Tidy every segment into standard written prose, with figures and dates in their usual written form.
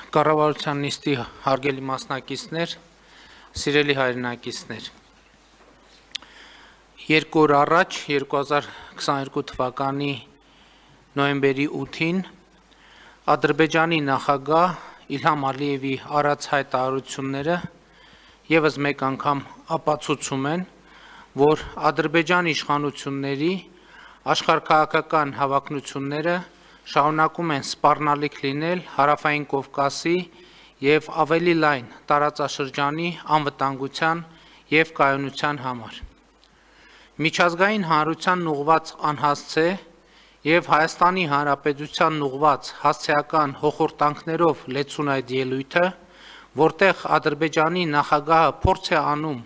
Կառավարության նիստի հարգելի մասնակիցներ, սիրելի հայրենակիցներ, 2 օր առաջ 2022 թվականի նոյեմբերի 8-ին Ադրբեջանի նախագահ Իլհամ Ալիևի արած հայտարարությունները ևս մեկ անգամ ապացուցում են, որ Ադրբեջանի իշխանությունների աշխարհաքաղաքական հավակնությունները շարունակում են սպառնալիք լինել Հարավային Կովկասի և ավելի լայն տարածաշրջանի անվտանգության և կայունության համար։ Միջազգային հանրությանն ուղղված անհասցե և Հայաստանի Հանրապետությանն ուղղված հասցեական հոխորտանքներով լեցուն այդ ելույթը, որտեղ Ադրբեջանի նախագահը փորձ է անում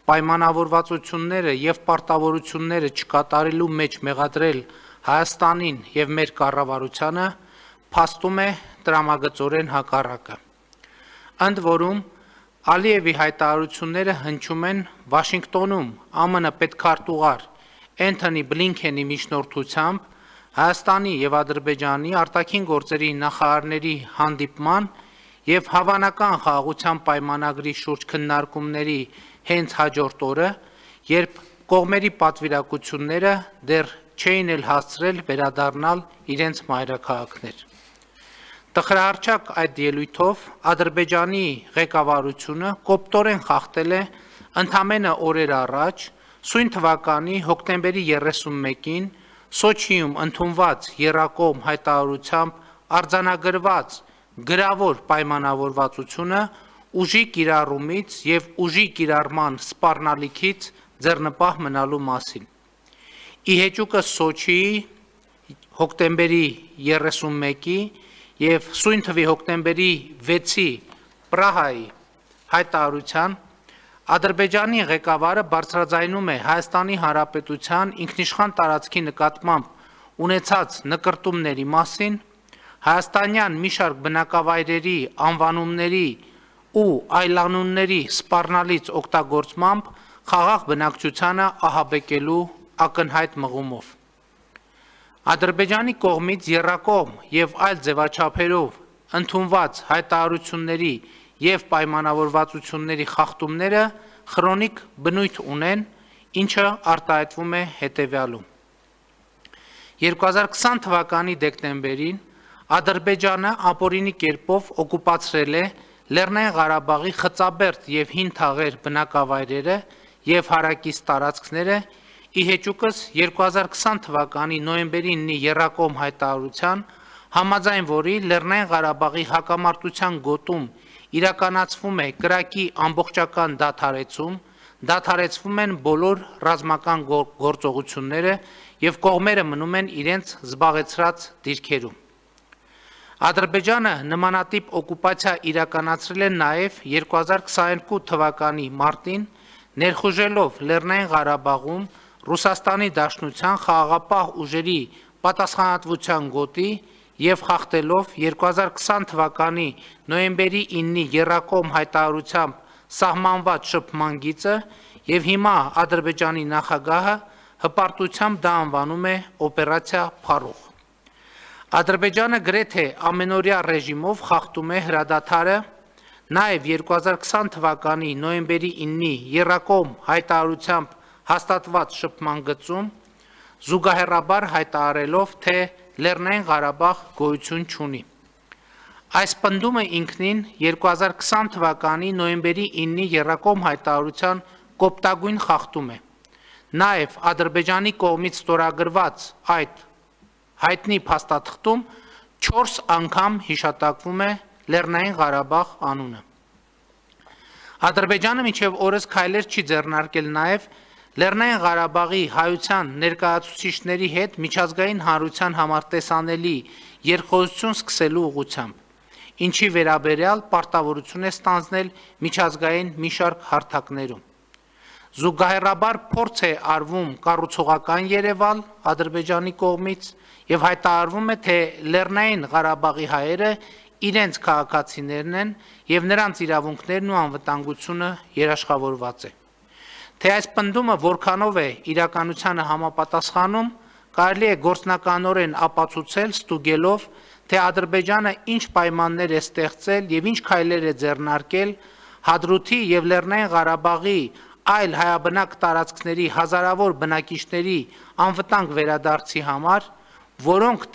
պայմանավորվածությունները և պարտավորությունները չկատարելու մեջ մեղադրել Հայաստանին և մեր կառավարությանը, փաստում է տրամագծորեն հակառակը։ Ընդ որում, Ալիևի հայտարարությունները հնչում են Վաշինգտոնում ԱՄՆ պետքարտուղար Էնթոնի Բլինքենի միջնորդությամբ Հայաստանի և Ադրբեջանի արտաքին գործերի նախարարների հանդիպման և Հավանական խաղաղության պայմանագրի շուրջ քննարկումների հենց հաջորդ օրը, երբ կողմերի պատվիրակությունները դեռ չէին էլ հասցրել վերադառնալ իրենց մայրաքաղաքներ։ Տխրահարճակ այդ ելույթով Ադրբեջանի ղեկավարությունը կոպտորեն խախտել է ընդամենը օրեր առաջ սույն թվականի հոկտեմբերի 31-ին Սոչիում ընդունված եռակողմ հայտարարությամբ արձանագրված գրավոր պայմանավորվածությունը ուժի կիրառումից և ուժի կիրառման սպառնալիքից ձեռնպահ մնալու մասին։ Ի հեճուկս Սոչիի հոկտեմբերի 31-ի և սույն թվի հոկտեմբերի 6-ի Պրահայի հայտարարության Ադրբեջանի ղեկավարը բարձրաձայնում է Հայաստանի Հանրապետության ինքնիշխան տարածքի նկատմամբ ունեցած նկրտումների մասին, հայաստանյան մի շարք բնակավայրերի անվանումների ու այլանունների սպառնալից օգտագործմամբ խաղաղ բնակչությանը ահաբեկելու ակնհայտ մղումով։ Ադրբեջանի կողմից եռակողմ և այլ ձևաչափերով ընդունված հայտարարությունների և պայմանավորվածությունների խախտումները խրոնիկ բնույթ ունեն, ինչը արտահայտվում է հետևյալում։ 2020 թվականի դեկտեմբերին Ադրբեջանը ապօրինի կերպով օկուպացրել է Լեռնային Ղարաբաղի Խծաբերդ և Հին Թաղեր բնակավայրերը և հարակից տարածքները, ի հեճուկս 2020 թվականի նոյեմբերի 9-ի եռակողմ հայտարարության, համաձայն որի Լեռնային Ղարաբաղի հակամարտության գոտում իրականացվում է կրակի ամբողջական դադարեցում, դադարեցվում են բոլոր ռազմական գործողությունները և կողմերը մնում են իրենց զբաղեցրած դիրքերում։ Ադրբեջանը նմանատիպ օկուպացիա իրականացրել է նաև 2022 թվականի մարտին, ներխուժելով Լեռնային Ղարաբաղում Ռուսաստանի Դաշնության խաղաղապահ ուժերի պատասխանատվության գոտի և խախտելով 2020 թվականի նոյեմբերի 9-ի եռակողմ հայտարարությամբ սահմանված շփման գիծը և հիմա Ադրբեջանի նախագահը հպարտությամբ դա անվանում է օպերացիա Փարուխ։ Ադրբեջանը գրեթե ամենօրյա ռեժիմով խախտում է հրադադարը, նաև 2020 թվականի նոյեմբերի 9-ի եռակողմ հայտարարությամբ հաստատված շփման գծում, զուգահեռաբար հայտարարելով, թե Լեռնային Ղարաբաղ գոյություն չունի։ Այս պնդումը ինքնին 2020 թվականի նոյեմբերի 9-ի եռակողմ հայտարարության կոպտագույն խախտում է։ Նաև Ադրբեջանի կողմից ստորագրված այդ հայտնի փաստաթղթում 4 անգամ հիշատակվում է Լեռնային Ղարաբաղ անունը։ Ադրբեջանը մինչև օրս քայլեր չի ձեռնարկել նաև Լեռնային Ղարաբաղի հայության ներկայացուցիչների հետ միջազգային հանրության համար տեսանելի երկխոսություն սկսելու ուղղությամբ, ինչի վերաբերյալ պարտավորություն է ստանձնել միջազգային մի շարք հարթակներում։ Զուգահեռաբար փորձ է արվում կառուցողական երևալ Ադրբեջանի կողմից և հայտարարվում է, թե Լեռնային Ղարաբաղի հայերը իրենց քաղաքացիներն են և նրանց իրավունքներն ու անվտանգությունը երաշխավորված է։ Թե այս պնդումը որքանով է իրականությանը համապատասխանում, կարելի է գործնականորեն ապացուցել ստուգելով, թե Ադրբեջանը ինչ պայմաններ է ստեղծել եւ ինչ քայլեր է ձեռնարկել Հադրութի եւ Լեռնային Ղարաբաղի այլ հայաբնակ տարածքների հազարավոր բնակիչների անվտանգ վերադարձի համար, որոնք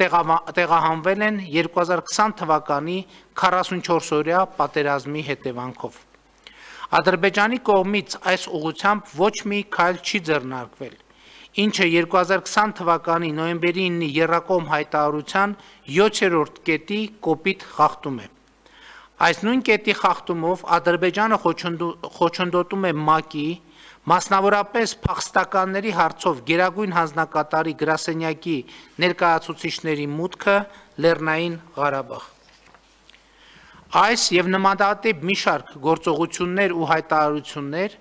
տեղահանվել են 2020 թվականի 44-օրյա պատերազմի հետևանքով։ Ադրբեջանի կողմից այս ուղղությամբ ոչ մի քայլ չի ձեռնարկվել, ինչը 2020 թվականի նոյեմբերի 9-ի եռակողմ հայտարարության 7-րդ կետի կոպիտ խախտում է։ Այս նույն կետի խախտումով Ադրբեջանը խոչընդոտում է ՄԱԿ-ի, մասնավորապես փախստականների հարցով գերագույն հանձնակատարի գրասենյակի ներկայացուցիչների մուտքը Լեռնային Ղարաբաղ։ Այս եւ նմանատիպ մի շարք գործողություններ ու հայտարարություններ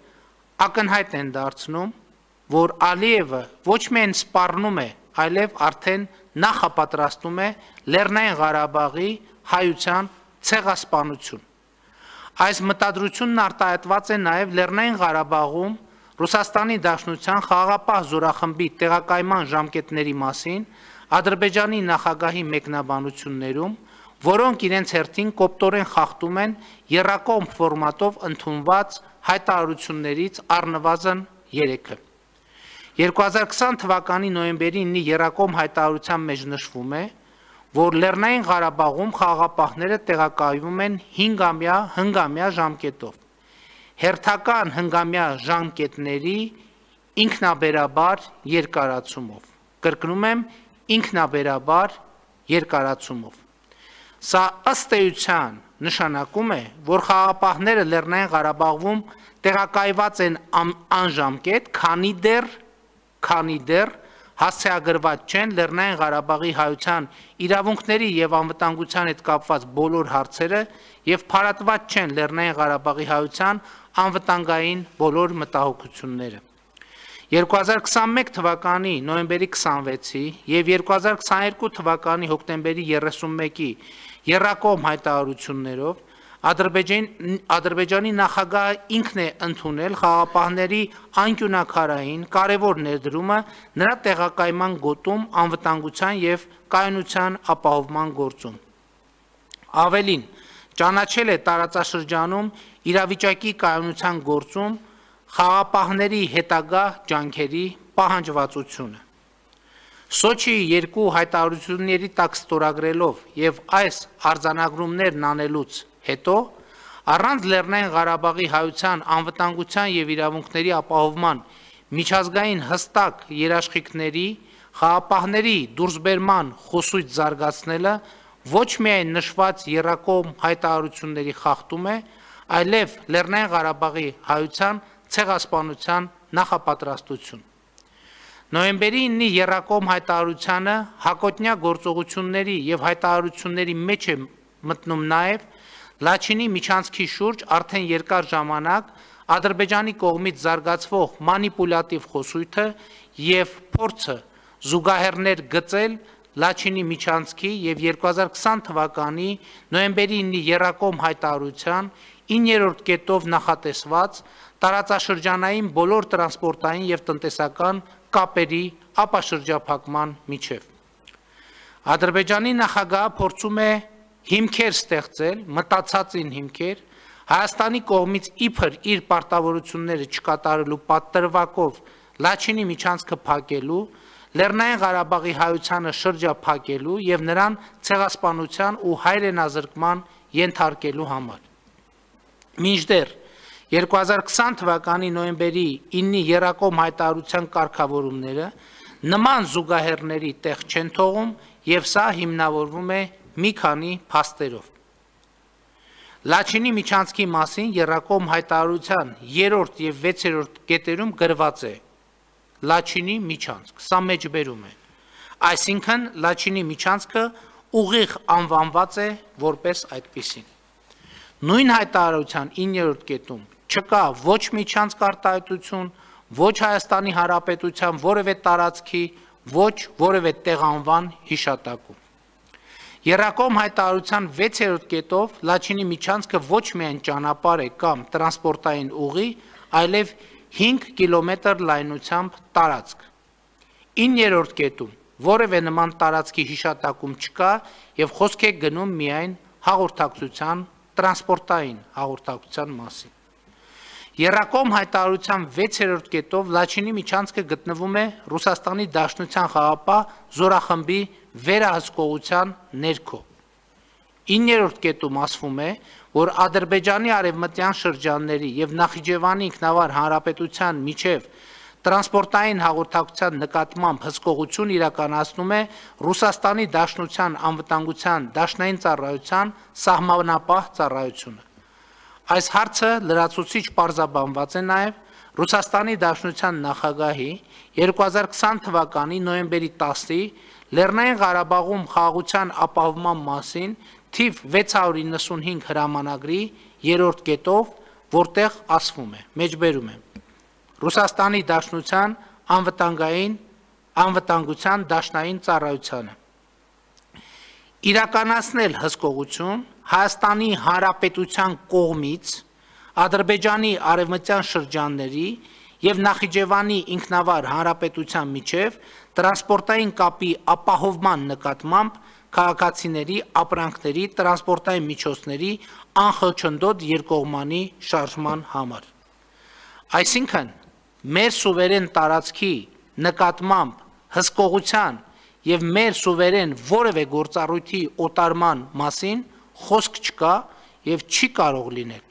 ակնհայտ են դարձնում, որ Ալիևը ոչ միայն սպառնում է, այլև արդեն նախապատրաստում է Լեռնային Ղարաբաղի հայության ցեղասպանություն։ Այս մտադրությունն արտահայտված է նաև Լեռնային Ղարաբաղում Ռուսաստանի Դաշնության խաղաղապահ զորախմբի տեղակայման ժամկետների մասին Ադրբեջանի նախագահի մեկնաբանություններում, որոնք իրենց հերթին կոպտորեն խախտում են եռակողմ ֆորմատով ընդունված հայտարարություններից առնվազն 3-ը։ 2020 թվականի նոյեմբերի 9-ի եռակողմ հայտարարության մեջ նշվում է, որ Լեռնային Ղարաբաղում խաղաղապահները տեղակայվում են 5-ամյա հնգամյա ժամկետով։ Հերթական հնգամյա ժամկետների ինքնաբերաբար երկարացումով։ Կրկնում եմ, ինքնաբերաբար երկարացումով։ Սա ըստ էության նշանակում է, որ խաղաղապահները Լեռնային Ղարաբաղում տեղակայված են անժամկետ, քանի դեռ հասցեագրված չեն Լեռնային Ղարաբաղի հայության իրավունքների եւ անվտանգության հետ կապված բոլոր հարցերը եւ փարատված չեն Լեռնային Ղարաբաղի հայության անվտանգային բոլոր մտահոգությունները։ 2021 թվականի նոյեմբերի 26-ի եւ 2022 թվականի հոկտեմբերի 31-ի եռակողմ հայտարարություններով Ադրբեջանի նախագահը ինքն է ընդունել խաղաղապահների անկյունակարային կարևոր ներդրումը նրա տեղակայման գոտում անվտանգության եւ կայունության ապահովման գործում։ Ավելին, ճանաչել է տարածաշրջանում իրավիճակի կայունության գործում խաղաղապահների հետագա ջանքերի պահանջվածությունը։ Սոչիի երկու հայտարարությունների տակ ստորագրելով եւ այս արձանագրումներն անելուց հետո առանց Լեռնային Ղարաբաղի հայության անվտանգության եւ իրավունքների ապահովման միջազգային հստակ երաշխիքների խաղաղապահների դուրսբերման խոսույթ զարգացնելը ոչ միայն նշված եռակողմ հայտարարությունների խախտում է, այլև Լեռնային Ղարաբաղի հայության ցեղասպանության նախապատրաստություն։ Նոյեմբերի 9-ի եռակողմ հայտարարությանը հակոտնյա գործողությունների եւ հայտարարությունների մեջ է մտնում նաեւ Լաչինի միջանցքի շուրջ արդեն երկար ժամանակ Ադրբեջանի կողմից զարգացվող մանիպուլյատիվ խոսույթը եւ փորձը զուգահեռներ գծել Լաչինի միջանցքի եւ 2020 թվականի նոյեմբերի 9-ի եռակողմ հայտարարության 9-րդ կետով նախատեսված տարածաշրջանային բոլոր տրանսպորտային եւ տնտեսական կապերի ապաշրջափակման միջև։ Ադրբեջանի նախագահը փորձում է հիմքեր ստեղծել, մտածածին հիմքեր, Հայաստանի կողմից իբր իր պարտավորությունները չկատարելու պատրվակով Լաչինի միջանցքը փակելու, Լեռնային Ղարաբաղի հայությանը շրջափակելու եւ նրան ցեղասպանության ու հայրենազրկման ենթարկելու համար։ Մինչդեռ 2020 թվականի նոյեմբերի 9-ի եռակողմ հայտարարության կարգավորումները նման զուգահեռների տեղ չեն թողում եւ սա հիմնավորվում է մի քանի փաստերով։ Լաչինի միջանցքի մասին եռակողմ հայտարարության 3-րդ եւ 6-րդ կետերում գրված է Լաչինի միջանցք, սա մեջբերում է։ Այսինքն Լաչինի միջանցքը ուղիղ անվանված է որպես այդպիսին։ Նույն հայտարարության 9-րդ կետում չկա ոչ միջանցք արտահայտություն, ոչ Հայաստանի Հանրապետության որևէ տարածքի, ոչ որևէ տեղանվան հիշատակում։ Եռակողմ հայտարարության 6-րդ կետով Լաչինի միջանցքը ոչ միայն ճանապարհ է կամ տրանսպորտային ուղի, այլև 5 կիլոմետր լայնությամբ տարածք։ 9-րդ կետում որևէ նման տարածքի հիշատակում չկա եւ խոսք է գնում միայն հաղորդակցության, տրանսպորտային հաղորդակցության մասին։ Եռակողմ հայտարարության 6-րդ կետով Լաչինի միջանցքը գտնվում է Ռուսաստանի Դաշնության խաղապահ զորախմբի վերահսկողության ներքո։ 9-րդ կետում ասվում է, որ Ադրբեջանի արևմտյան շրջանների եւ Նախիջևանի ինքնավար հանրապետության միջև տրանսպորտային հաղորդակցության նկատմամբ հսկողություն իրականացնում է Ռուսաստանի Դաշնության անվտանգության դաշնային ծառայության սահմանապահ ծառայությունը։ Այս հարցը լրացուցիչ պարզաբանված է նաև Ռուսաստանի Դաշնության նախագահի 2020 թվականի նոյեմբերի 10-ի Լեռնային Ղարաբաղում խաղաղության ապահովման մասին թիվ 695 հրամանագրի 3-րդ կետով, որտեղ ասվում է, մեջբերում է. Ռուսաստանի Դաշնության անվտանգության դաշնային ծառայությանը իրականացնել հսկողություն Հայաստանի Հանրապետության կողմից Ադրբեջանի արևմտյան շրջանների եւ Նախիջևանի ինքնավար հանրապետության միջև տրանսպորտային կապի ապահովման նկատմամբ քաղաքացիների ապրանքների տրանսպորտային միջոցների անխոչնդոտ երկկողմանի շարժման համար։ Այսինքն մեր սուվերեն տարածքի նկատմամբ հսկողության եւ մեր սուվերեն որևէ գործառույթի օտարման մասին խոսք չկա եւ չի կարող լինել։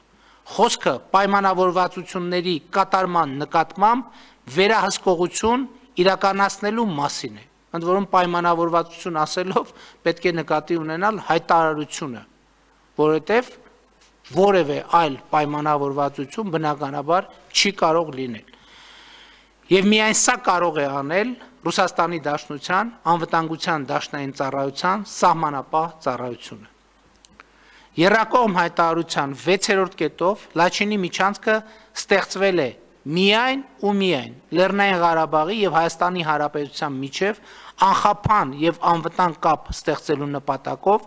Խոսքը պայմանավորվածությունների կատարման նկատմամբ վերահսկողություն իրականացնելու մասին է։ Ընդ որում պայմանավորվածություն ասելով պետք է նկատի ունենալ հայտարարությունը, որովհետեւ որևէ այլ պայմանավորվածություն բնականաբար չի կարող լինել։ Եվ միայն սա կարող է անել Ռուսաստանի Դաշնության անվտանգության դաշնային ծառայության սահմանապահ ծառայությունը։ Եռակողմ հայտարարության 6-րդ կետով Լաչինի միջանցքը ստեղծվել է միայն ու միայն Լեռնային Ղարաբաղի եւ Հայաստանի Հանրապետության միջև անխափան եւ անվտանգ կապ ստեղծելու նպատակով,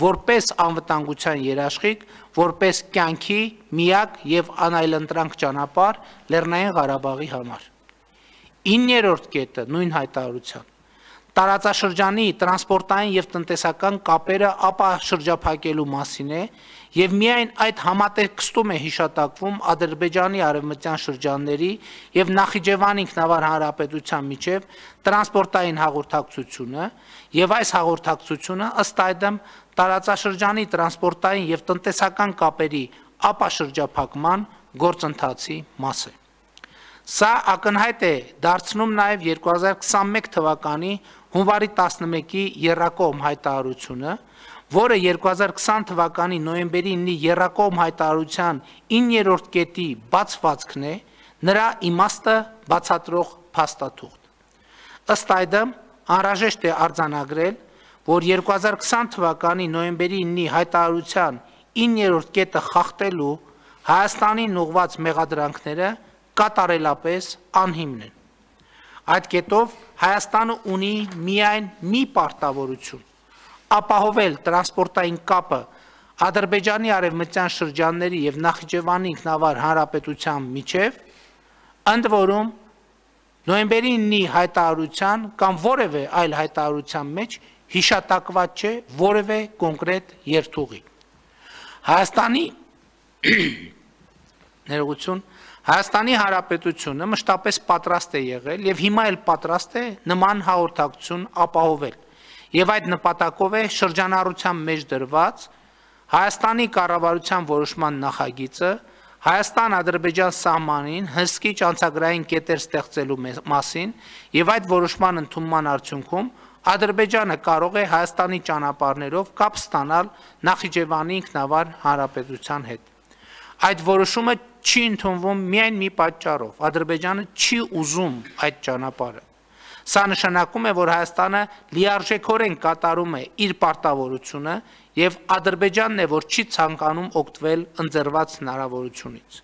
որպես անվտանգության երաշխիք, որպես կյանքի միակ եւ անայլընտրանք ճանապարհ Լեռնային Ղարաբաղի համար։ 9-րդ կետը նույն հայտարարության տարածաշրջանի տրանսպորտային եւ տնտեսական կապերը ապաշրջափակելու մասին է եւ միայն այդ համատեքստում է հիշատակվում Ադրբեջանի արևմտյան շրջանների եւ Նախիջևանի ինքնավար հանրապետության միջև տրանսպորտային հաղորդակցությունը եւ այս հաղորդակցությունը ըստ այդմ տարածաշրջանի տրանսպորտային եւ տնտեսական կապերի ապաշրջափակման գործընթացի մաս է։ Սա ակնհայտ է դարձնում նաև 2021 թվականի հունվարի 11-ի եռակողմ հայտարարությունը, որը 2020 թվականի նոյեմբերի 9-ի եռակողմ հայտարարության 9-րդ կետի բացվածքն է, նրա իմաստը բացատրող փաստաթուղթ։ Ըստ այդմ անհրաժեշտ է արձանագրել, որ 2020 թվականի նոյեմբերի 9-ի հայտարարության 9-րդ կետը խախտելու Հայաստանին ուղղված մեղադրանքները կատարելապես անհիմն են։ Այդ կետով Հայաստանը ունի միայն մի պարտավորություն՝ ապահովել տրանսպորտային կապը Ադրբեջանի արևմտյան շրջանների եւ Նախիջևանի ինքնավար հանրապետության միջև, ընդ որում նոյեմբերի 9-ի հայտարարության կամ որևէ այլ հայտարարության մեջ հիշատակված չէ որևէ կոնկրետ երթուղի։ Հայաստանի Հանրապետությունը մշտապես պատրաստ է եղել եւ հիմա էլ պատրաստ է նման հաղորդակցություն ապահովել եւ այդ նպատակով է շրջանառության մեջ դրված Հայաստանի կառավարության որոշման նախագիծը Հայաստան-Ադրբեջան սահմանին հսկիչ անցագրային կետեր ստեղծելու մասին եւ այդ որոշման ընդունման արդյունքում Ադրբեջանը կարող է Հայաստանի ճանապարհներով կապ ստանալ Նախիջևանի ինքնավար հանրապետության հետ։ Այդ որոշումը չի ընդունվում միայն մի պատճառով՝ Ադրբեջանը չի ուզում այդ ճանապարհը։ Սա նշանակում է, որ Հայաստանը լիարժեքորեն կատարում է իր պարտավորությունը եւ Ադրբեջանն է, որ չի ցանկանում օգտվել ընձեռված հնարավորությունից։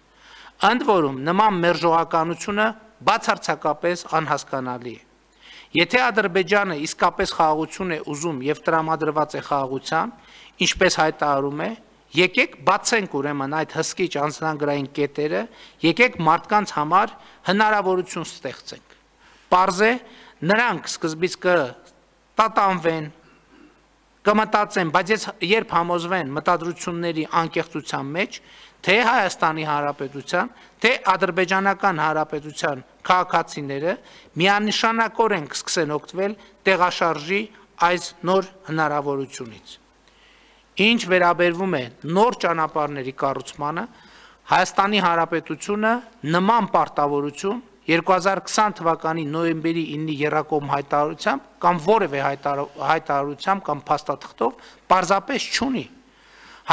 Ընդ որում, նման մերժողականությունը բացարձակապես անհասկանալի է։ Եթե Ադրբեջանը իսկապես խաղաղություն է ուզում եւ տրամադրված է խաղաղության, ինչպես հայտարարում է, եկեք բացենք ուրեմն այդ հսկիչ անձնագրային կետերը, եկեք մարդկանց համար հնարավորություն ստեղծենք։ Պարզ է, նրանք սկզբից տատանվեն, կմտածեն, բայց ես երբ համոզվեն մտադրությունների անկեղծության մեջ, թե Հայաստանի Հանրապետության, թե Ադրբեջանական Հանրապետության քաղաքացիները միանշանակորեն կսկսեն օգտվել տեղաշարժի այս նոր հնարավորությունից։ Ինչ վերաբերվում է նոր ճանապարհների կառուցմանը, Հայաստանի Հանրապետությունը նման պարտավորություն 2020 թվականի նոյեմբերի 9-ի եռակողմ հայտարարությամբ կամ որևէ հայտարարությամբ կամ փաստաթղթով պարզապես չունի։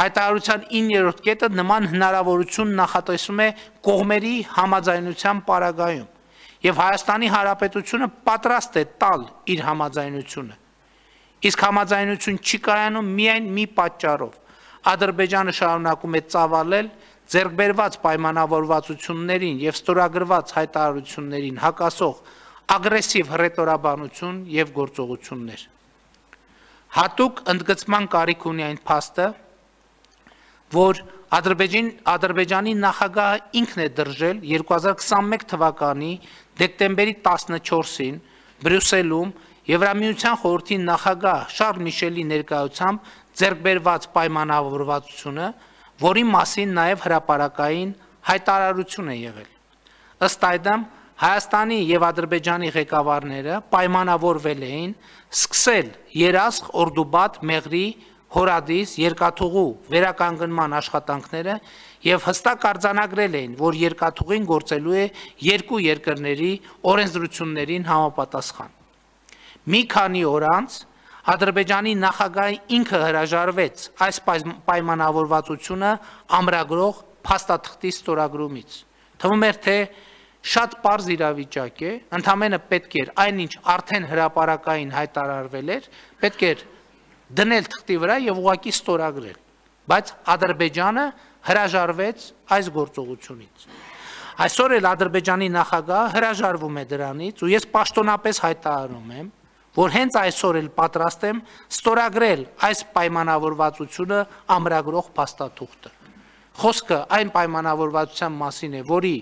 Հայտարարության 9-րդ կետը նման հնարավորություն նախատեսում է կողմերի համաձայնության պարագայում, եւ Հայաստանի Հանրապետությունը պատրաստ է տալ իր համաձայնությունը։ Իսկ համաձայնություն չի կայանում միայն մի պատճառով։ Ադրբեջանը շարունակում է ծավալել ձեռքբերված պայմանավորվածություններին եւ ստորագրված հայտարարություններին հակասող ագրեսիվ հռետորաբանություն եւ գործողություններ։ Հատուկ ընդգծման կարիք ունի այն փաստը, որ Ադրբեջանի նախագահը ինքն է դրժել 2021 թվականի դեկտեմբերի 14-ին Բրյուսելում Եվրամիության խորհրդի նախագահ Շարլ Միշելի ներկայությամբ ձեռքբերված պայմանավորվածությունը, որի մասին նաև հրապարակային հայտարարություն է եղել։ Ըստ այդմ Հայաստանի եւ Ադրբեջանի ղեկավարները պայմանավորվել էին սկսել Երասխ, Օրդուբադ, Մեղրի, Հորադիս երկաթուղու վերականգնման աշխատանքները եւ հստակ արձանագրել էին, որ երկաթուղին գործելու է երկու երկրների օրենսդրություններին համապատասխան։ Մի քանի օր անց Ադրբեջանի նախագահը ինքը հրաժարվեց այս պայմանավորվածությունը ամրագրող փաստաթղթի ստորագրումից։ Թվում էր, թե շատ պարզ իրավիճակ է, ընդամենը պետք էր այնինչ արդեն հրապարակային հայտարարվել էր, պետք էր դնել թղթի վրա եւ ուղղակի ստորագրել, բայց Ադրբեջանը հրաժարվեց այս գործողությունից։ Այսօր էլ Ադրբեջանի նախագահը հրաժարվում է դրանից ու ես պաշտոնապես հայտարարում եմ, որ հենց այսօր էլ պատրաստ եմ ստորագրել այս պայմանավորվածությունը ամրագրող փաստաթուղթը։ Խոսքը այն պայմանավորվածության մասին է, որի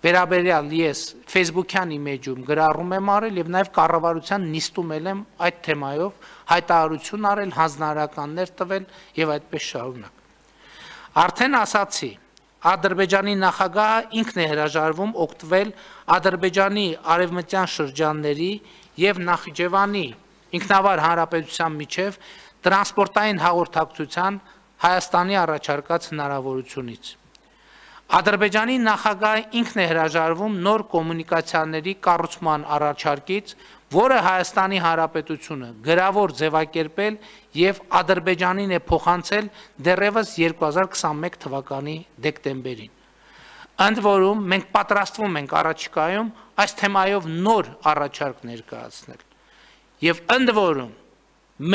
վերաբերյալ ես Facebook-յան իմեջում գրառում եմ արել եւ նաեւ կառավարության նիստում եմ այդ թեմայով հայտարարություն արել, հանձնարարականներ տվել եւ այդպես շարունակ։ Արդեն ասացի, Ադրբեջանի նախագահը ինքն է հրաժարվում օգտվել Ադրբեջանի արևմտյան շրջանների եւ Նախիջևանի ինքնավար հանրապետության միջև տրանսպորտային հաղորդակցության Հայաստանի առաջարկած հնարավորությունից։ Ադրբեջանի նախագահը ինքն է հրաժարվում նոր կոմունիկացիաների կառուցման առաջարկից, որը Հայաստանի Հանրապետությունը գրավոր ձևակերպել եւ Ադրբեջանին է փոխանցել դեռևս 2021 թվականի դեկտեմբերին։ Ընդ որում մենք պատրաստվում ենք առաջիկայում այս թեմայով նոր առաջարկ ներկայացնել։ Եվ ընդ որում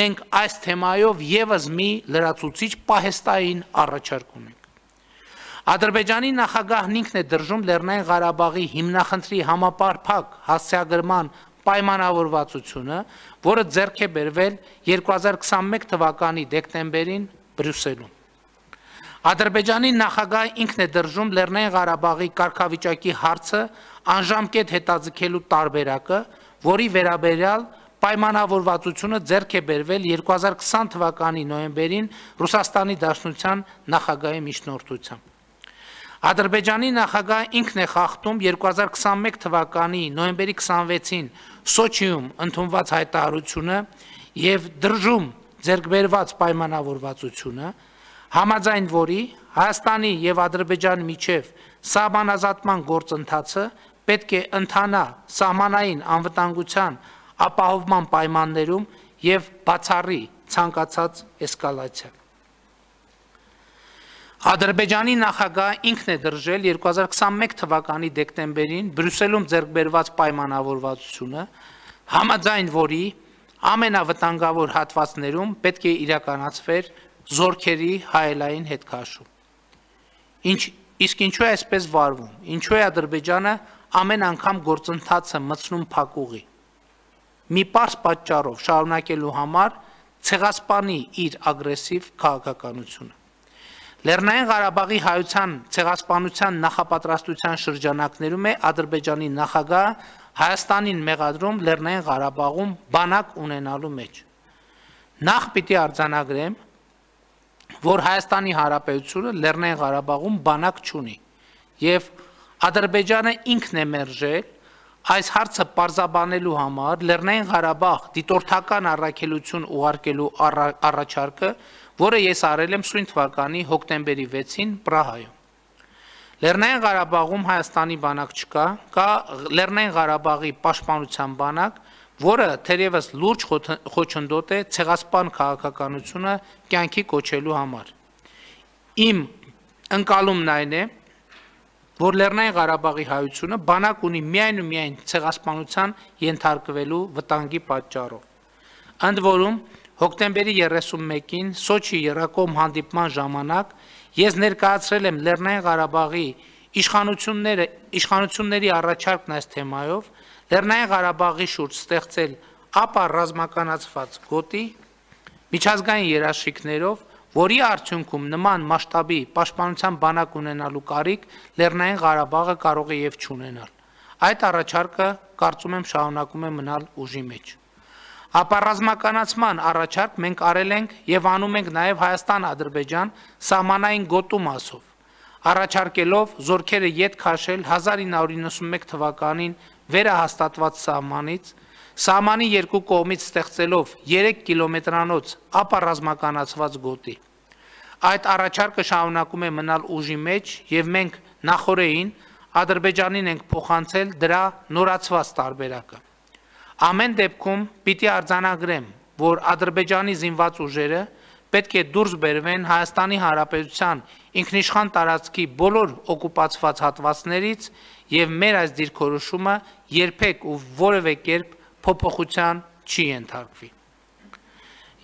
մենք այս թեմայով եւս մի լրացուցիչ պահեստային առաջարկ ունենք։ Ադրբեջանի նախագահն ինքն է դրժում Լեռնային Ղարաբաղի հիմնախնդրի համապարփակ հասցեագրման պայմանավորվածությունը, որը ձեռք է բերվել 2021 թվականի դեկտեմբերին Բրյուսելում։ Ադրբեջանի նախագահը ինքն է դրժում Լեռնային Ղարաբաղի կարգավիճակի հարցը անժամկետ հետաձգելու տարբերակը, որի վերաբերյալ պայմանավորվածությունը ձեռք է բերվել 2020 թվականի նոյեմբերին Ռուսաստանի Դաշնության նախագահի միջնորդությամբ։ Ադրբեջանի նախագահը ինքն է խախտում 2021 թվականի նոյեմբերի 26-ին Սոչիում ընդունված հայտարարությունը եւ դրժում ձեռքբերված պայմանավորվածությունը, համաձայն որի Հայաստանի եւ Ադրբեջանի միջև սահմանազատման գործընթացը պետք է ընթանա սահմանային անվտանգության ապահովման պայմաններում եւ բացառի ցանկացած էսկալացիա։ Ադրբեջանի նախագահը ինքն է դրժել 2021 թվականի դեկտեմբերին Բրյուսելում ձեռքբերված պայմանավորվածությունը, համաձայն որի ամենավտանգավոր հատվածներում պետք է իրականացվեր զորքերի հայելային հետքաշում։ Իսկ ինչու է այսպես վարվում։ Ինչու է Ադրբեջանը ամեն անգամ գործընթացը մտցնում փակուղի։ Մի պարզ պատճառով շարունակելու համար ցեղասպանի իր ագրեսիվ քաղաքականությունը։ Լեռնային Ղարաբաղի հայության ցեղասպանության նախապատրաստության շրջանակներում է Ադրբեջանի նախագահը Հայաստանին մեղադրում Լեռնային Ղարաբաղում բանակ ունենալու մեջ։ Նախ պիտի արձանագրեմ, որ Հայաստանի Հանրապետությունը Լեռնային Ղարաբաղում բանակ չունի եւ Ադրբեջանը ինքն է մերժել այս հարցը պարզաբանելու համար Լեռնային Ղարաբաղ դիտորդական առաքելություն ուղարկելու առաջարկը, որը ես արել եմ սույն թվականի հոկտեմբերի 6-ին Պրահայում։ Լեռնային Ղարաբաղում Հայաստանի բանակ չկա, կա Լեռնային Ղարաբաղի պաշտպանության բանակ, որը թերևս լուրջ խոչընդոտ է ցեղասպան քաղաքականությունը կյանքի կոչելու համար։ Իմ ընկալումն այն է, որ Լեռնային Ղարաբաղի հայությունը բանակ ունի միայն ու միայն ցեղասպանության ենթարկվելու վտանգի պատճառով։ Ընդ որում, հոկտեմբերի 31-ին Սոչի Երակոմ հանդիպման ժամանակ ես ներկայացրել եմ Լեռնային Ղարաբաղի իշխանությունների առաջարկն այս թեմայով, Լեռնային Ղարաբաղի շուրջ ստեղծել ապա ռազմականացված գոտի միջազգային երաշխիքներով, որի արդյունքում նման մասշտաբի պաշտպանության բանակ ունենալու կարիք Լեռնային Ղարաբաղը կարող է եւ չունենալ։ Այդ առաջարկը կարծում եմ շարունակում է մնալ ուժի մեջ։ Ապառազմականացման առաջարկ մենք արել ենք եւ անում ենք նաեւ Հայաստան-Ադրբեջան սահմանային գոտու մասով, առաջարկելով զորքերը ետ քաշել 1991 թվականին վերահաստատված սահմանից, սահմանի երկու կողմից ստեղծելով 3 կիլոմետրանոց ապառազմականացված գոտի։ Այդ առաջարկը շարունակում է մնալ ուժի մեջ եւ մենք նախորդին Ադրբեջանին ենք փոխանցել դրա նորացված տարբերակը։ Ամեն դեպքում պիտի արձանագրեմ, որ Ադրբեջանի զինված ուժերը պետք է դուրս բերվեն Հայաստանի Հանրապետության ինքնիշխան տարածքի բոլոր օկուպացված հատվածներից եւ մեր այս դիրքորոշումը երբեք ու որևէ կերպ փոփոխության չի ենթարկվի։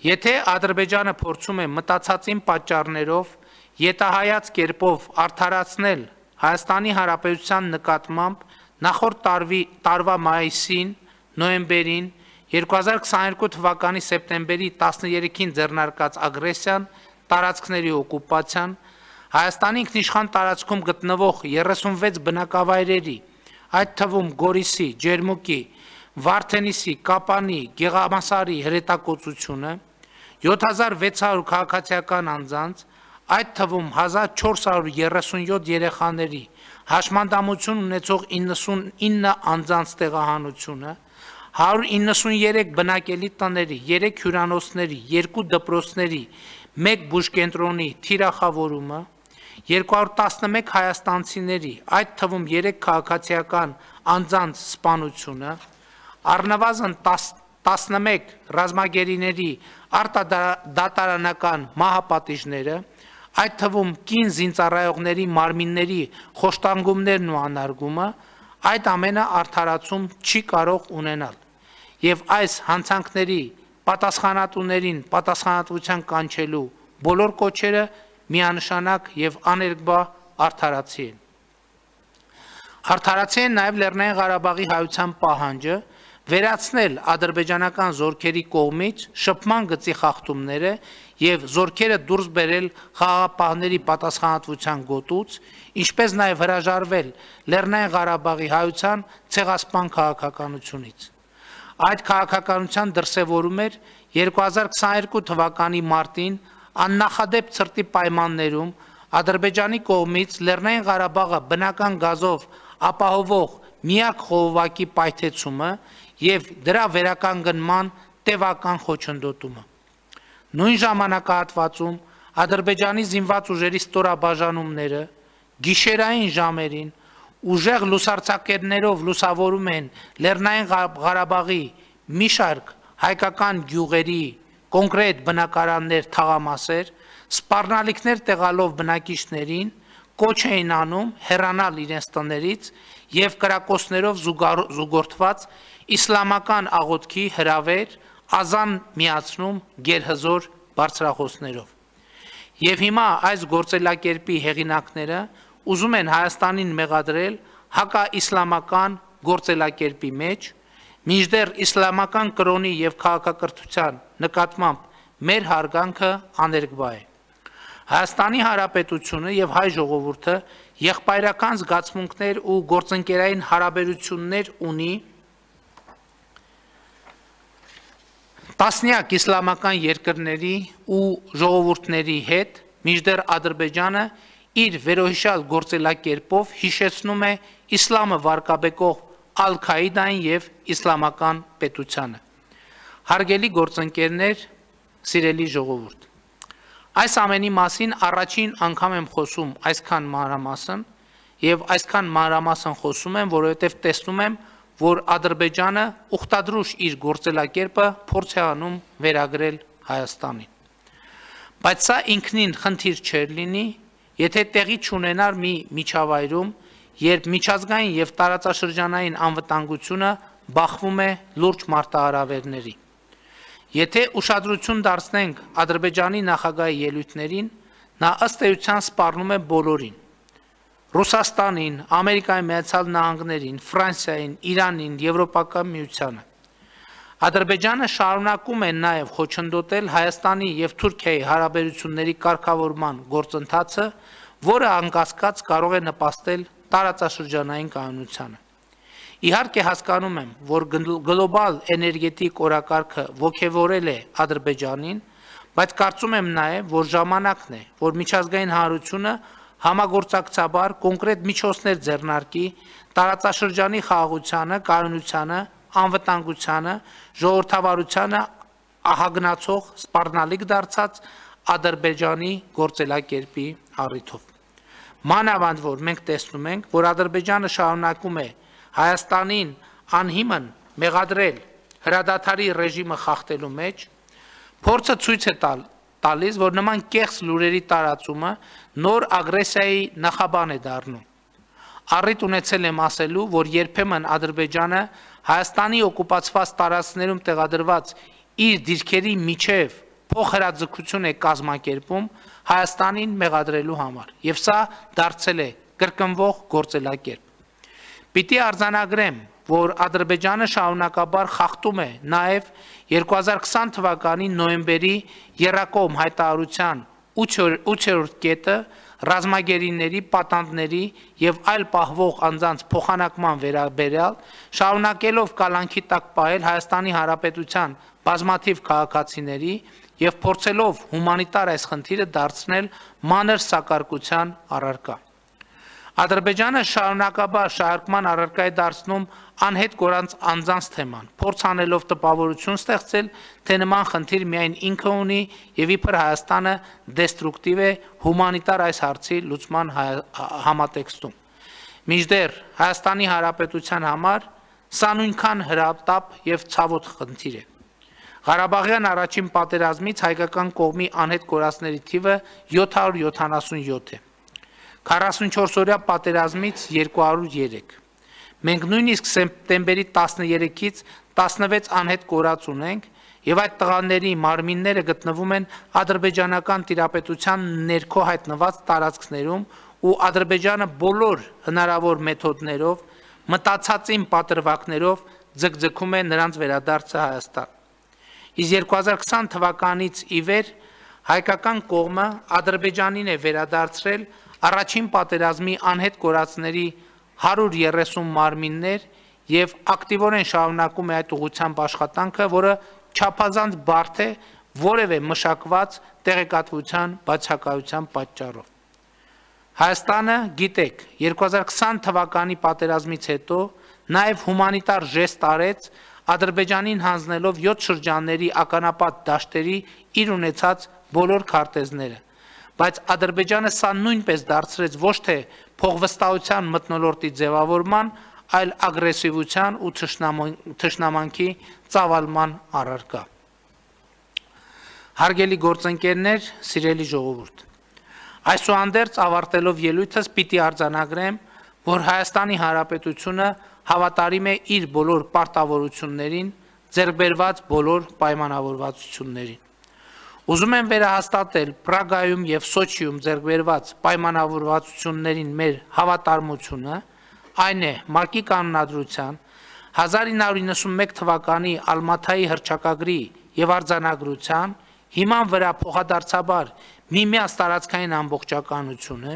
Եթե Ադրբեջանը փորձում է մտածածին պատճառներով յետահայաց կերպով արդարացնել Հայաստանի Հանրապետության նկատմամբ նախորդ տարվա մայիսին, նոյեմբերին, 2022 թվականի սեպտեմբերի 13-ին ձեռնարկած ագրեսիան, տարածքների օկուպացիան, Հայաստանի ինքնիշխան տարածքում գտնվող 36 բնակավայրերի, այդ թվում Գորիսի, Ջերմուկի, Վարդենիսի, Կապանի, Գեղամասարի հրետակոծությունը, 7600 քաղաքացիական անձանց, այդ թվում 1437 երեխաների, հաշմանդամություն ունեցող 99 անձանց տեղահանությունը, 193 բնակելի տների, 3 հյուրանոցների, 2 դպրոցների, 1 բուժկենտրոնի թիրախավորումը, 211 հայաստանցիների, այդ թվում 3 քաղաքացիական անձանց սպանությունը, առնվազն 11 ռազմագերիների արտադատարանական մահապատիժները, այդ թվում կին զինծառայողների մարմինների խոշտանգումներն ու անարգումը, այդ ամենը արդարացում չի կարող ունենալ։ Եվ այս հանցանքների պատասխանատուներին պատասխանատվության կանչելու բոլոր կոչերը միանշանակ եւ աներկբա արդարացի են։ Արդարացի են նաեւ Լեռնային Ղարաբաղի հայության պահանջը վերացնել ադրբեջանական զորքերի կողմից շփման գծի խախտումները եւ զորքերը դուրս բերել խաղաղապահների պատասխանատվության գոտուց, ինչպես նաեւ հրաժարվել Լեռնային Ղարաբաղի հայության ցեղասպան քաղաքականությունից։ Այդ քաղաքականության դրսևորում էր 2022 թվականի մարտին աննախադեպ ցրտի պայմաններում Ադրբեջանի կողմից Լեռնային Ղարաբաղը բնական գազով ապահովող միակ խողովակի պայթեցումը եւ դրա վերականգնման տևական խոչընդոտումը։ Նույն ժամանակահատվածում Ադրբեջանի զինված ուժերի ստորաբաժանումները գիշերային ժամերին ուժեղ լուսարձակերներով լուսավորում են Լեռնային Ղարաբաղի մի շարք հայկական գյուղերի կոնկրետ բնակարաններ, թաղամասեր, սպառնալիքներ տեղալով բնակիչներին կոչ էին անում հեռանալ իրենց տներից եւ կրակոցներով զուգորդված իսլամական աղոթքի հրավեր ազան միացնում գերհզոր բարձրախոսներով։ Եվ հիմա այս գործելակերպի հեղինակները ուզում են Հայաստանին մեղադրել հակաիսլամական գործելակերպի մեջ, մինչդեռ իսլամական կրոնի եւ քաղաքակրթության նկատմամբ մեր հարգանքը աներկբա է։ Հայաստանի Հանրապետությունը եւ հայ ժողովուրդը եղբայրական զգացմունքներ ու գործընկերային հարաբերություններ ունի Տասնյակ իսլամական երկրների ու ժողովուրդների հետ մինչդեռ Ադրբեջանը իր վերոհիշյալ գործելակերպով հիշեցնում է իսլամը վարկաբեկող Ալ-Քաիդային եւ իսլամական պետությանը։ Հարգելի գործընկերներ, սիրելի ժողովուրդ, այս ամենի մասին առաջին անգամ եմ խոսում այսքան մանրամասն եւ այսքան մանրամասն խոսում եմ, որովհետեւ տեսնում եմ, որ Ադրբեջանը ուխտադրուժ իր գործելակերպը փորձ է անում վերագրել Հայաստանին։ Բայց սա ինքնին խնդիր չէր լինի, եթե տեղի չունենար մի միջավայրում, երբ միջազգային եւ տարածաշրջանային անվտանգությունը բախվում է լուրջ մարտահրավերների։ Եթե ուշադրություն դարձնենք Ադրբեջանի նախագահի ելույթներին, նա ըստ էության սպառնում է բոլորին։ Ռուսաստանին, Ամերիկայի Միացյալ Նահանգներին, Ֆրանսիային, Իրանին, Եվրոպական միությանը։ Ադրբեջանը շարունակում է նաև խոչընդոտել Հայաստանի եւ Թուրքիայի հարաբերությունների կարգավորման գործընթացը, որը անկասկած կարող է նպաստել տարածաշրջանային կայունությանը։ Իհարկե հասկանում եմ, որ գլոբալ էներգետիկ օրակարգը ոգևորել է Ադրբեջանին, բայց կարծում եմ նաև, որ ժամանակն է, որ միջազգային հանրությունը համագործակցաբար կոնկրետ միջոցներ ձեռնարկի տարածաշրջանի խաղաղությանը, կայունությանը, անվտանգությանը, ժողովրդավարությանը ահագնացող սպառնալիք դարձած Ադրբեջանի գործելակերպի առիթով։ Մանավանդ որ մենք տեսնում ենք, որ Ադրբեջանը շարունակում է Հայաստանին անհիմն մեղադրել հրադադարի ռեժիմը խախտելու մեջ, փորձը ցույց է տալիս, որ նման կեղծ լուրերի տարածումը նոր ագրեսիայի նախաբան է դառնում։ Առիթ ունեցել եմ ասելու, որ երբեմն Ադրբեջանը Հայաստանի օկուպացված տարածքներում տեղադրված իր դիրքերի միջև փոխհրաձգություն է կազմակերպում Հայաստանին մեղադրելու համար, եւ սա դարձել է կրկնվող գործելակերպ։ Պիտի արձանագրեմ, որ Ադրբեջանը շարունակաբար խախտում է նաև 2020 թվականի նոյեմբերի եռակողմ հայտարարության 8-րդ կետը ռազմագերիների, պատանդների եւ այլ պահվող անձանց փոխանակման վերաբերյալ, շարունակելով կալանքի տակ պահել Հայաստանի Հանրապետության բազմաթիվ քաղաքացիների եւ փորձելով հումանիտար այս խնդիրը դարձնել մանր սակարկության առարկա։ Ադրբեջանը շարունակաբար շահարկման առարկա է դարձնում անհետ կորած անձանց թեման, փորձ անելով տպավորություն ստեղծել, թե նման խնդիր միայն ինքը ունի եւ իբր Հայաստանը դեստրուկտիվ է հումանիտար այս հարցի լուծման համատեքստում։ Մինչդեռ Հայաստանի Հանրապետության համար սա նույնքան հրատապ եւ ցավոտ խնդիր է։ Ղարաբաղյան առաջին պատերազմից հայկական կողմի անհետ կորածների թիվը 777 է։ 44-օրյա պատերազմից 203։ Մենք նույնիսկ սեպտեմբերի 13-ից 16 անհետ կորած ունենք եւ այդ տղաների մարմինները գտնվում են ադրբեջանական տիրապետության ներքո հայտնված տարածքներում ու Ադրբեջանը բոլոր հնարավոր մեթոդներով, մտածածին պատրվակներով ձգձգում է նրանց վերադարձը Հայաստան։ Իսկ 2020 թվականից ի վեր հայկական կողմը Ադրբեջանին է վերադարձրել առաջին պատերազմի անհետ կորածների 130 մարմիններ եւ ակտիվորեն շարունակում է այդ ուղղությամբ աշխատանքը, որը չափազանց բարդ է որևէ մշակված տեղեկատվության բացակայության պատճառով։ Հայաստանը, գիտեք, 2020 թվականի պատերազմից հետո նաեւ հումանիտար ժեստ արեց Ադրբեջանին հանձնելով 7 շրջանների ականապատ դաշտերի իր ունեցած բոլոր քարտեզները։ Բայց Ադրբեջանը սա նույնպես դարձրեց ոչ թե փողվստահության մթնոլորտի ձևավորման, այլ ագրեսիվության ու թշնամանքի ծավալման առարկա։ Հարգելի գործընկերներ, սիրելի ժողովուրդ, այսուհանդերձ ավարտելով ելույթս պիտի արձանագրեմ, որ Հայաստանի Հանրապետությունը հավատարիմ է իր բոլոր պարտավորություններին, ձեռք բերված բոլոր պայմանավորվածություններին։ Ուզում եմ վերահաստատել Պրագայում եւ Սոչիում ձեռք բերված պայմանավորվածություններին մեր հավատարմությունը, այն է ՄԱԿ-ի կանոնադրության 1991 թվականի Ալմաթայի հռչակագրի եւ արձանագրության հիման վրա փոխադարձաբար միմյանց տարածքային ամբողջականությունը,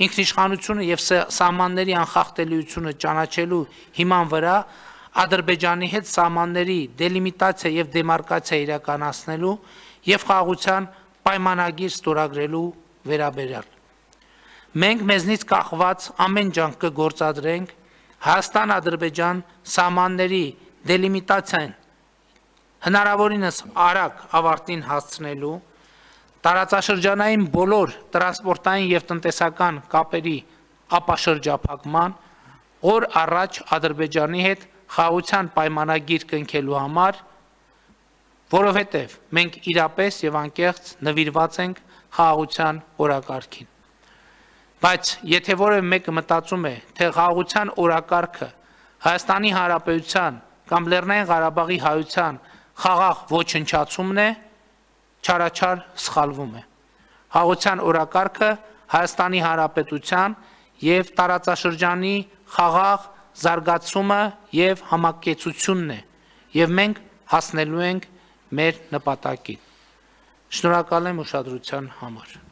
ինքնիշխանությունը եւ սահմանների անխախտելիությունը ճանաչելու հիման վրա Ադրբեջանի հետ սահմանների դելիմիտացիա եւ դեմարկացիա իրականացնելու եւ խաղաղության պայմանագիր ստորագրելու վերաբերյալ։ Մենք մեզնից կախված ամեն ջանք կգործադրենք Հայաստան-Ադրբեջան սահմանների դելիմիտացիան հնարավորինս արագ ավարտին հասցնելու, տարածաշրջանային բոլոր տրանսպորտային եւ տնտեսական կապերի ապաշրջափակման, օր առաջ Ադրբեջանի հետ խաղաղության պայմանագիր կնքելու համար, որովհետև մենք իրապես եւ անկեղծ նվիրված ենք խաղաղության օրակարգին։ Բայց եթե որևէ մեկը մտածում է, թե խաղաղության օրակարգը Հայաստանի Հանրապետության կամ Լեռնային Ղարաբաղի հայության խաղաղ ոչնչացումն է, չարաչար սխալվում է։ Խաղաղության օրակարգը Հայաստանի Հանրապետության եւ տարածաշրջանի խաղաղ զարգացումը եւ համակեցությունն է, եւ մենք հասնելու ենք մեր նպատակին։ Շնորհակալ եմ ուշադրության համար։